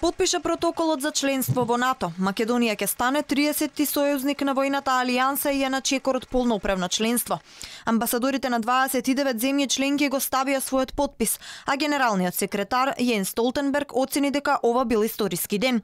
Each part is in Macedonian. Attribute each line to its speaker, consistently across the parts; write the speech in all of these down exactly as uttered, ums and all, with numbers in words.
Speaker 1: потпиша протоколот за членство во НАТО, Македонија ќе стане триесетти сојузник на војната алијанса и е на чекор од полноправно членство. Амбасадорите на дваесет и девет земји членки го ставија својот потпис, а генералниот секретар Јенс Столтенберг оцени дека ова бил историски ден.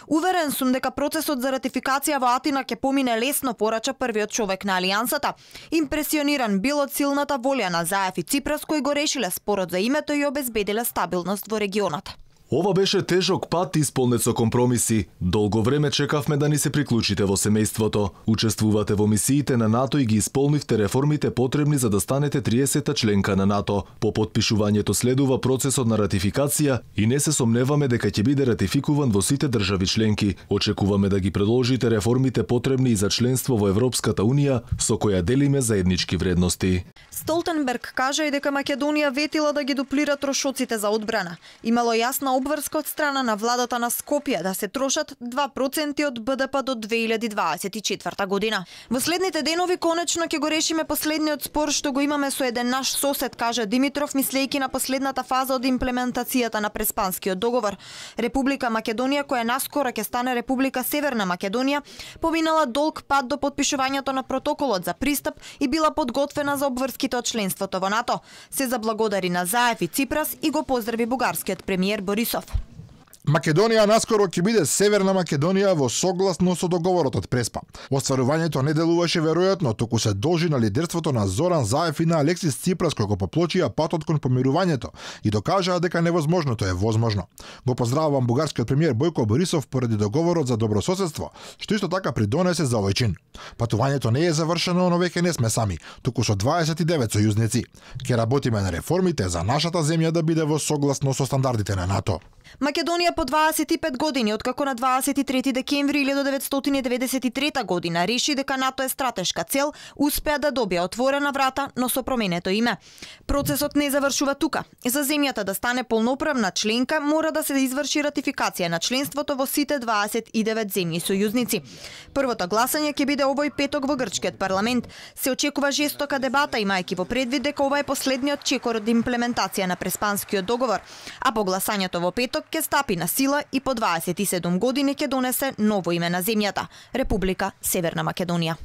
Speaker 1: Уверен сум дека процесот за ратификација во Атина ќе помине лесно, порача првиот човек на алијансата. Импресиониран бил од силната волја на Заев и Ципрас кои го решиле спорот за името и обезбедиле стабилност во регионот.
Speaker 2: Ова беше тежок пат исполнет со компромиси. Долго време чекавме да ни се приклучите во семејството. Учествувате во мисиите на НАТО и ги исполнивте реформите потребни за да станете триесетта членка на НАТО. По потпишувањето следува процесот на ратификација и не се сомневаме дека ќе биде ратификуван во сите држави членки. Очекуваме да ги продолжите реформите потребни и за членство во Европската Унија, со која делиме заеднички вредности.
Speaker 1: Столтенберг кажа и дека Македонија ветила да ги дуплира трошоците за одбрана. Имало јасна обврска од страна на владата на Скопје да се трошат два проценти од БДП до две илјади дваесет и четврта година. Во следните денови конечно ќе го решиме последниот спор што го имаме со еден наш сосед, кажа Димитров, мислејќи на последната фаза од имплементацијата на Преспанскиот договор. Република Македонија, која наскоро ќе стане Република Северна Македонија, поминала долг пат до потпишувањето на протоколот за пристап и била подготвена за обврските од членството во НАТО. Се заблагодари на Заев и Ципрас и го поздрави бугарскиот премиер Борисов.
Speaker 3: Македонија наскоро ќе биде Северна Македонија во согласно со договорот од Преспа. Остварувањето не делуваше веројатно, туку се должи на лидерството на Зоран Заев и на Алексис Ципрас кои го поплочија патот кон помирувањето и докажаа дека невозможното е возможно. Го поздравувам бугарскиот премиер Бојко Борисов поради договорот за добрососедство, што исто така придонесе за овој чин. Патувањето не е завршено, но веќе не сме сами, туку со дваесет и девет сојузници. Ќе работиме на реформите за нашата земја да биде во согласно со стандардите на НАТО.
Speaker 1: Македонија по дваесет и пет години, откако на дваесет и трети декември илјада деветстотини деветдесет и трета година реши дека НАТО е стратешка цел, успеа да добија отворена врата, но со променето име. Процесот не завршува тука. За земјата да стане полноправна членка, мора да се изврши ратификација на членството во сите дваесет и девет земји сојузници. Првото гласање ќе биде овој петок во грчкиот парламент. Се очекува жестока дебата, имајќи во предвид дека ова е последниот чекор од имплементација на Преспанскиот договор, а по гласањето во петок ќе стапи на сила и по дваесет и седум години ќе донесе ново име на земјата – Република Северна Македонија.